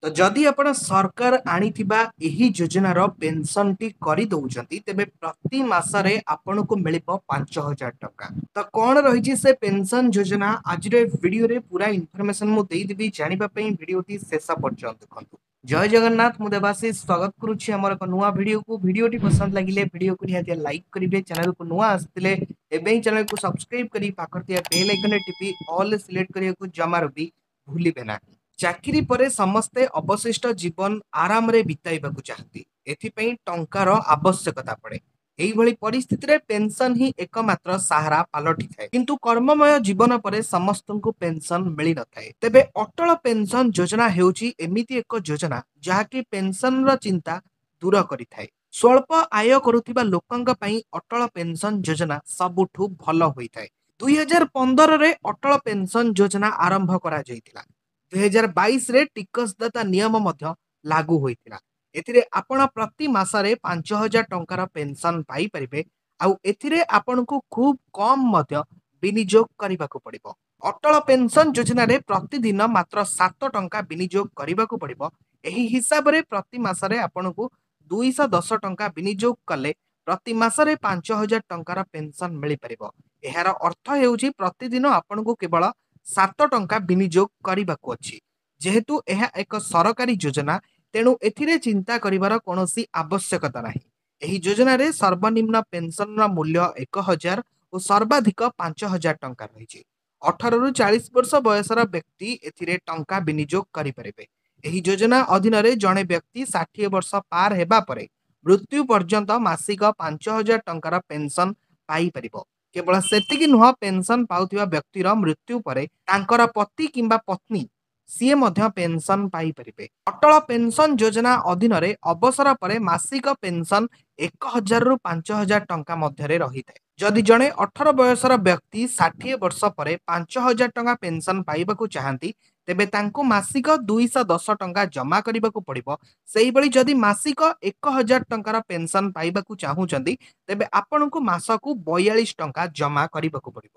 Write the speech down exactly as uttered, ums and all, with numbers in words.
ତ ଯଦି ଆପଣ ସରକାର ଆଣିଥିବା ଏହି ଯୋଜନାର ପେନସନଟି କରିଦଉଛନ୍ତି, ତେବେ ପ୍ରତି ମାସରେ ଆପଣଙ୍କୁ ମିଳିବ ପାଞ୍ଚ ହଜାର ଟଙ୍କା। ତ କଣ ରହିଛି ସେ ପେନସନ ଯୋଜନା, ଆଜିର ଏ ଭିଡିଓରେ ପୁରା ଇନଫର୍ମେସନ ମୁଁ ଦେଇଦେବି। ଜାଣିବା ପାଇଁ ଭିଡିଓଟି ଶେଷ ପର୍ଯ୍ୟନ୍ତ ଦେଖନ୍ତୁ। ଜୟ ଜଗନ୍ନାଥ, ମୁଁ ଦେବାଶିଷ ସ୍ୱାଗତ କରୁଛି ଆମର ଏକ ନୂଆ ଭିଡିଓକୁ। ଭିଡିଓଟି ପସନ୍ଦ ଲାଗିଲେ ଭିଡିଓକୁ ନିହାତି ଲାଇକ୍ କରିବେ। ଚ୍ୟାନେଲକୁ ନୂଆ ଆସିଥିଲେ ଏବେ ହିଁ ଚ୍ୟାନେଲକୁ ସବସ୍କ୍ରାଇବ କରି ପାଖରେ ଥିବା ବେଲ୍ ଆଇକନରେ ଟିପି ଅଲ୍ ସିଲେକ୍ଟ କରିବାକୁ ଜମାରୁ ବି ଭୁଲିବେ ନାହିଁ। ଚାକିରି ପରେ ସମସ୍ତେ ଅବଶିଷ୍ଟ ଜୀବନ ଆରାମରେ ବିତାଇବାକୁ ଚାହାନ୍ତି। ଏଥିପାଇଁ ଟଙ୍କାର ଆବଶ୍ୟକତା ପଡେ। ଏଇଭଳି ପରିସ୍ଥିତିରେ ପେନସନ ହିଁ ଏକମାତ୍ର ସାହାରା ପାଲଟିଥାଏ। କିନ୍ତୁ କର୍ମମୟ ଜୀବନ ପରେ ସମସ୍ତଙ୍କୁ ପେନସନ ମିଳିନଥାଏ। ତେବେ ଅଟଳ ପେନସନ ଯୋଜନା ହେଉଛି ଏମିତି ଏକ ଯୋଜନା ଯାହାକି ପେନସନର ଚିନ୍ତା ଦୂର କରିଥାଏ। ସ୍ୱଳ୍ପ ଆୟ କରୁଥିବା ଲୋକଙ୍କ ପାଇଁ ଅଟଳ ପେନସନ ଯୋଜନା ସବୁଠୁ ଭଲ ହୋଇଥାଏ। ଦୁଇ ହଜାର ପନ୍ଦରରେ ଅଟଳ ପେନସନ ଯୋଜନା ଆରମ୍ଭ କରାଯାଇଥିଲା। ଦୁଇ ହଜାର ବାଇଶରେ ଟିକସଦାତା ନିୟମ ମଧ୍ୟ ଲାଗୁ ହୋଇଥିଲା। ଏଥିରେ ଆପଣ ପ୍ରତି ମାସରେ ପାଞ୍ଚ ହଜାର ଟଙ୍କାର ପେନସନ ପାଇପାରିବେ, ଆଉ ଏଥିରେ ଆପଣଙ୍କୁ ଖୁବ୍ କମ୍ ମଧ୍ୟ ବିନିଯୋଗ କରିବାକୁ ପଡିବ। ଅଟଳ ପେନସନ ଯୋଜନାରେ ପ୍ରତିଦିନ ମାତ୍ର ସାତ ଟଙ୍କା ବିନିଯୋଗ କରିବାକୁ ପଡିବ। ଏହି ହିସାବରେ ପ୍ରତି ମାସରେ ଆପଣଙ୍କୁ ଦୁଇଶହ ଦଶ ଟଙ୍କା ବିନିଯୋଗ କଲେ ପ୍ରତି ମାସରେ ପାଞ୍ଚ ହଜାର ଟଙ୍କାର ପେନସନ ମିଳିପାରିବ। ଏହାର ଅର୍ଥ ହେଉଛି ପ୍ରତିଦିନ ଆପଣଙ୍କୁ କେବଳ ସାତ ଟଙ୍କା ବିନିଯୋଗ କରିବାକୁ ଅଛି। ଯେହେତୁ ଏହା ଏକ ସରକାରୀ ଯୋଜନା, ତେଣୁ ଏଥିରେ ଚିନ୍ତା କରିବାର କୌଣସି ଆବଶ୍ୟକତା ନାହିଁ। ଏହି ଯୋଜନାରେ ସର୍ବନିମ୍ନ ପେନସନର ମୂଲ୍ୟ ଏକ ହଜାର ଓ ସର୍ବାଧିକ ପାଞ୍ଚ ହଜାର ଟଙ୍କା ରହିଛି। ଅଠରରୁ ଚାଳିଶ ବର୍ଷ ବୟସର ବ୍ୟକ୍ତି ଏଥିରେ ଟଙ୍କା ବିନିଯୋଗ କରିପାରିବେ। ଏହି ଯୋଜନା ଅଧୀନରେ ଜଣେ ବ୍ୟକ୍ତି ଷାଠିଏ ବର୍ଷ ପାର ହେବା ପରେ ମୃତ୍ୟୁ ପର୍ଯ୍ୟନ୍ତ ମାସିକ ପାଞ୍ଚ ହଜାର ଟଙ୍କାର ପେନସନ ପାଇପାରିବ। କେବଳ ସେତିକି ନୁହଁ, ପେନସନ ପାଉଥିବା ବ୍ୟକ୍ତିର ମୃତ୍ୟୁ ପରେ ତାଙ୍କର ପତି କିମ୍ବା ପତ୍ନୀ ସିଏ ମଧ୍ୟ ପେନସନ ପାଇପାରିବେ। ଅଟଳ ପେନସନ ଯୋଜନା ଅଧୀନରେ ଅବସର ପରେ ମାସିକ ପେନସନ ଏକ ହଜାରରୁ ପାଞ୍ଚ ହଜାର ଟଙ୍କା ମଧ୍ୟରେ ରହିଥାଏ। ଯଦି ଜଣେ ଅଠର ବୟସର ବ୍ୟକ୍ତି ଷାଠିଏ ବର୍ଷ ପରେ ପାଞ୍ଚ ହଜାର ଟଙ୍କା ପେନସନ ପାଇବାକୁ ଚାହାନ୍ତି, ତେବେ ତାଙ୍କୁ ମାସିକ ଦୁଇଶହ ଦଶ ଟଙ୍କା ଜମା କରିବାକୁ ପଡ଼ିବ। ସେଇଭଳି ଯଦି ମାସିକ ଏକ ହଜାର ଟଙ୍କାର ପେନସନ ପାଇବାକୁ ଚାହୁଁଛନ୍ତି, ତେବେ ଆପଣଙ୍କୁ ମାସକୁ ବୟାଳିଶ ଟଙ୍କା ଜମା କରିବାକୁ ପଡ଼ିବ।